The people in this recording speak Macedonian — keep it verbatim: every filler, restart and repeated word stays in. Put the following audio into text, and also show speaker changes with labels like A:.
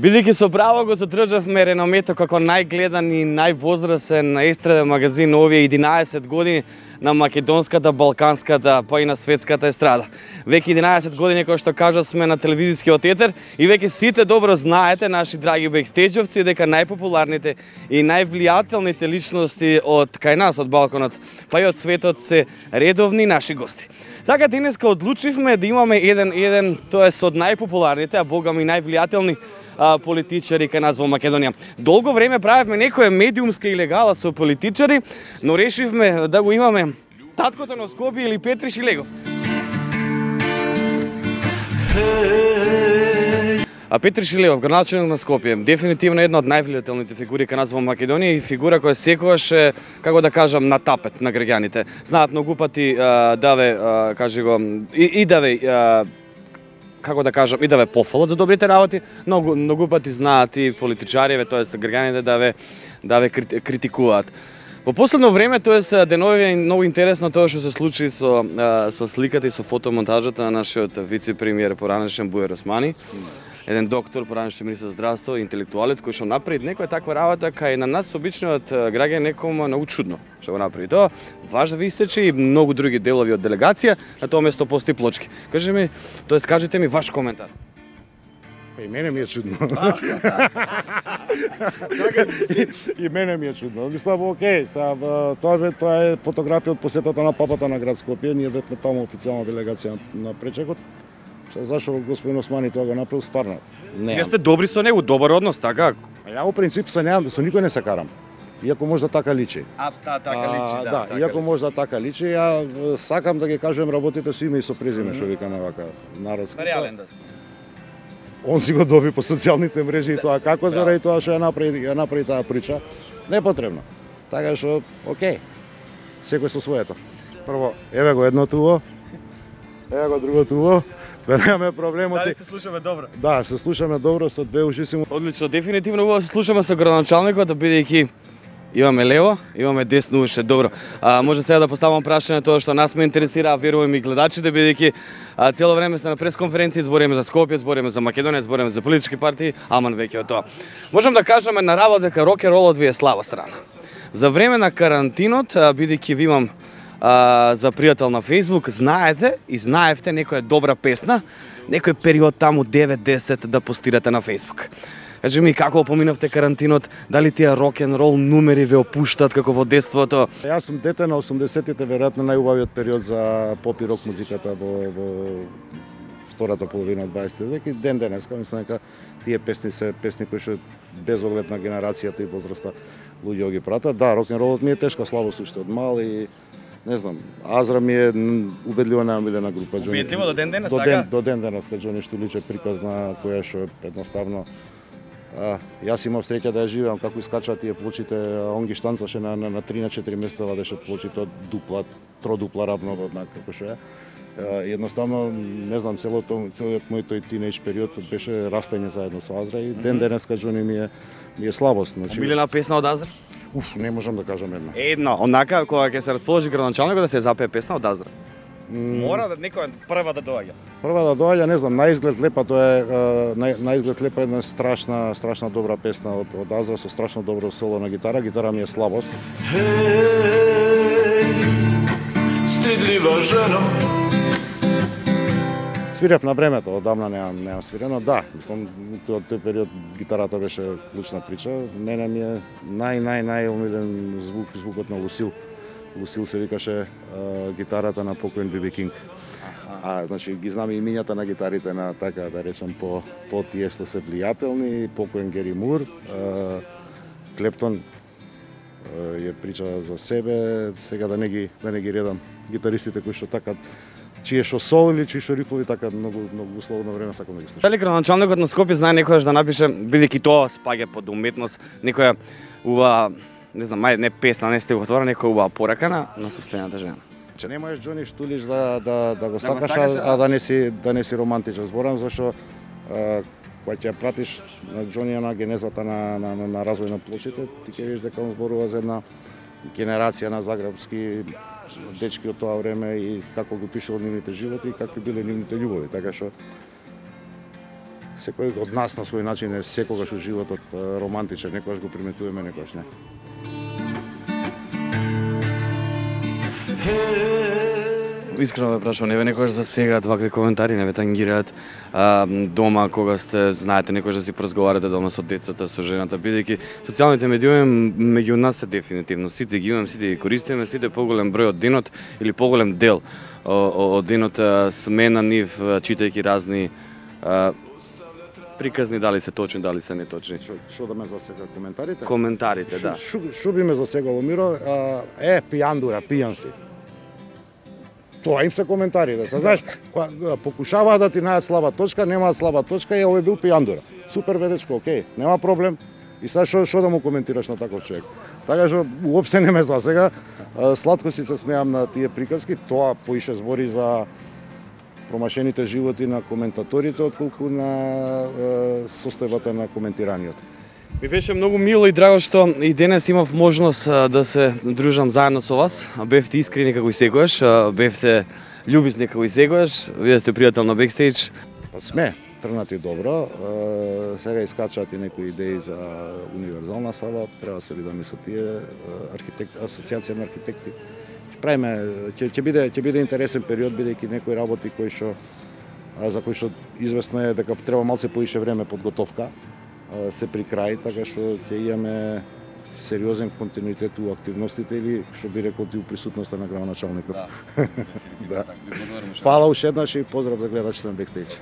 A: Бидејќи со право го задржавме реномето како најгледан и највозрасен естраден магазин овие единаесет години на македонската, балканската, па и на светската естрада. Веќе единаесет години, кој што кажа, сме на телевизискиот етер и веќе сите добро знаете, наши драги бекстејџовци, дека најпопуларните и највлијателните личности од кај нас, од балконот, па и од светот се редовни наши гости. Така денеска одлучивме да имаме еден еден, тоест од најпопуларните, а богами највлијателни политичари кај нас во Македонија. Долго време правевме некоја медиумска илегала со политичари, но решивме да го имаме таткото на Скопје или Петри Шилегов. А Петри Шилегов, градоначелник на Скопје, дефинитивно една од највлијателните фигури кај нас во Македонија и фигура која секогаш е, како да кажам, на тапет на граѓаните. Знаат многу пати даве, кажи го, и, и даве како да кажам, и да ве пофалат за добрите работи, многу многу пати знаат и политичариве, тоест граѓаните да ве да ве критикуваат. Во последно време, тоест денови е многу интересно тоа што се случи со со сликата и со фотомонтажата на нашиот вице-премиер поранешен Бујар Османи. Еден доктор, поранешен министер за здравство, интелектуалец кој што направи некоја таква работа кај на нас обичниот граѓан некому многу чудно што го направи тоа. Ваш да ви истече и многу други делови од делегација, на тоа место постои плочки. Кажи ми, тоест кажете ми ваш коментар.
B: Па и мене ми е чудно. И мене ми е чудно. Мислам, окей, са, тоа е тоа е фотографија од посетата на папата на град Скопје. Ние бевме таму официјална делегација на пречекот. Зашо господин Османи тоа го направил, стварно не.
A: Вие сте добри со него, добар однос, така?
B: Ја во принцип со неам, со никој не се карам. Иако може да така личи.
A: А, та, така личи, да.
B: Да,
A: така
B: иако
A: личи.
B: може да така личи, ја сакам да ги кажувам работите со име и со презиме, што викаме вака народски.
A: Реален да сте.
B: Он си го доби по социјалните мрежи и тоа како заради тоа што ја направи, ја направи таа прича, не е потребно. Така што, окей. Секој со своето. Прво, еве го едното уво. Еве го другото уво. Да немаме проблемоти.
A: Дали се слушаме добро?
B: Да, се слушаме добро со две уши си.
A: Одлично, дефинитивно убаво се слушаме со градоначалникот, бидејќи имаме лево, имаме десно уше, добро. А, може сега да поставам прашање тоа што нас ме интересира, а верувам и гледачите, бидејќи цело време сте на пресконференција, збориме за Скопје, збориме за Македонија, збориме за политички партии, аман веќе од тоа. Можам да кажеме на работа дека рок-н-ролот ви е слаба страна. За време на карантинот, бидејќи ви имам А, за пријател на Facebook, знаете и знаевте некоја добра песна, некој период таму девет-десет да постирате на Facebook. Кажи ми, како поминавте карантинот, дали тие рок-н-рол numeri ве опуштат како во детството?
B: Јас сум дете на осумдесетите, веројатно најубавиот период за поп и рок музиката во, во втората половина од дваесети век и ден денеска, мислам дека тие песни се песни кои што без оглед на генерацијата и возраста луѓе ги пратат. Да, рок-н-ролот ми е тешка слабост уште од мал и не знам, Азра ми е убедливо најомилена група.
A: Убедливо до ден денес,
B: до
A: така?
B: Ден, до ден денес, кај Џони Штуличе приказна, која што едноставно а, јас имав среќа да ја живеам како искачаат тие плочите, он ги штанцаше на, на, на три на четири места вадеше плочите од дупла, тродупла равноводна, како што е. Едноставно, не знам, целото, целиот мој тој тинејдж период беше растање заедно со Азра и ден денеска Џони ми е, ми е слабост. Значи,
A: Омилена песна од Азра?
B: Уф, не можам да кажам една.
A: Едно, онака кога ќе се расположи градоначалникот да се запее песна од Азра. Мора да некоја прва да доаѓа.
B: Прва да доаѓа, не знам, наизглед лепа, тоа е на, наизглед лепа една страшна, страшна добра песна од, од Азра со страшно добро соло на гитара. Гитара ми е слабост.
C: Хеј, стидлива жено.
B: Свирев на времето, одамна немам, немам свирено. Да, мислам, од тој период гитарата беше клучна прича. Мене ми е нај, нај, најомилен звук, звукот на Лусил. Лусил се викаше а, гитарата на покоен Би Би Кинг. А, значи, ги знам имињата на гитарите на, така да речем, по, по тие што се влијателни, покоен Гери Мур, а, Клептон а, ја прича за себе, сега да не ги, да не ги редам гитаристите кои што така чие што сол или чие што рифови така многу многу условно време сакам да ги слушам.
A: Дали градоначалникот на Скопје знае некојаш да напише, бидејќи тоа спаѓа под уметност, некоја ува, не знам, мај не песна, не стихотвора, некоја убава порака на, на собствената жена.
B: Не можеш Џони Штулич да да да го сакаш, а, а да не си да не си романтичен. Зборам зашто кога ќе пратиш на Џони на генезата на на на, на развој на плочите, ти ќе видиш дека он зборува за една генерација на загребски дечки од тоа време и како го пишал нивните животи и какви биле нивните љубови, така што Секој од нас на свој начин е секогаш во животот романтичен, некогаш го приметуваме, некогаш не.
A: Искрено ве прашувам, не ве некогаш засегаат вакви коментари, не ве тангираат а, дома кога сте, знаете, некогаш да си поразговарате дома со децата, со жената, бидејќи социјалните медиуми меѓу нас се дефинитивно, сите ги имаме, сите ги користиме, сите поголем број од денот или поголем дел од денот сме на нив, читајќи разни а, приказни, дали се точни, дали се неточни.
B: Што да ме засега коментарите?
A: Коментарите, да.
B: Шо, шо би ме засегало, Миро? А, е, пијандура, пијан си. Тоа им се коментарите. Се знаеш, покушаваат да ти најдат слаба точка, немаат слаба точка, е, овој бил пијандура. Супер ведечко, окей, нема проблем. И сега што што да му коментираш на таков човек? Така што уопште не ме засега. Сладко си се смеам на тие приказки, тоа поише збори за промашените животи на коментаторите отколку на е, состојбата на коментираниот.
A: Ми беше многу мило и драго што и денес имав можност да се дружам заедно со вас. Бевте искрени како и секогаш, бевте љубезни како и секогаш. Вие сте пријател на бекстејдж.
B: Па сме трнати добро. Сега искачаат и некои идеи за универзална сала, треба да се видаме со тие архитект, асоцијација на архитекти. Правиме, ќе ќе биде ќе биде интересен период, бидејќи некои работи кои што за кои што известно е дека треба малце поише време подготовка се при крај, така што ќе имаме сериозен континуитет у активностите или што би рекол ти у присутноста на градоначалникот. Да. Да. Фала уште еднаш и поздрав за гледачите на бекстејдж.